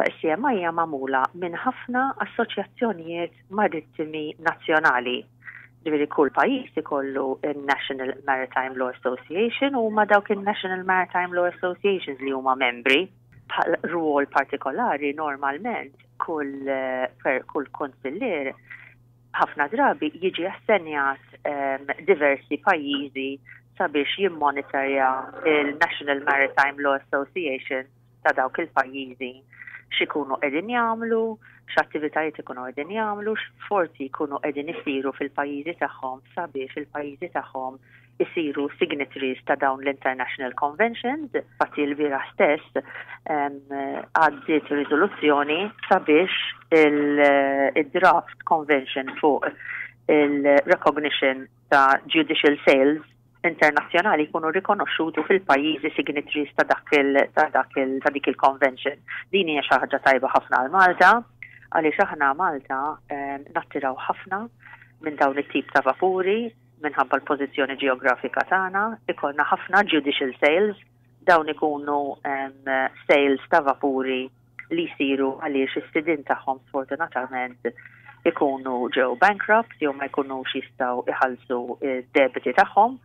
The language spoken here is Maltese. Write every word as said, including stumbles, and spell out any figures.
Issa, is-C M I hija magħmula minn ħafna assoċjazzjonijiet marittimi nazzjonali. Ġifieri kull pajjiż ikollu il-National Maritime Law Association u ma dawk il-National Maritime Law Associations li huma membri. Bħal rwol partikolari, normalment kull, eh, per kull konsillier ħafna drabi jiġi assenjat um, diversi pajjiżi sabiex jimmonitorja il-National Maritime Law Association ta' dawk il-pajjiżi, x'ikunu qegħdin jagħmlu, x'attivitajiet ikunu qegħdin jagħmlu, x'forzi jkunu qegħdin isiru fil-pajjiżi tagħhom sabiex il-pajjiżi tagħhom isiru signatories ta' dawn l-International Conventions. Infatti l-bieraħ stess għaddiet riżoluzzjoni sabiex il-draft convention fuq il-recognition ta' judicial sales internazzjonali jkunu rikonoxxutu fil-pajjiżi signatories ta' dak il ta' dak il ta' dik il-convention. Din hija xi ħaġa tajba ħafna għal Malta, għaliex aħna Malta nattiraw ħafna minn dawn it-tip ta' vapuri minħabba l-pożizzjoni ġeografika tagħna, ikollna ħafna judicial sales, dawn ikunu um, sales ta' vapuri li jsiru għaliex is-sidin tagħhom sfortunatament ikunu ġew bankrupt jew ma jkunux jistgħu iħallsu id-debiti tagħhom.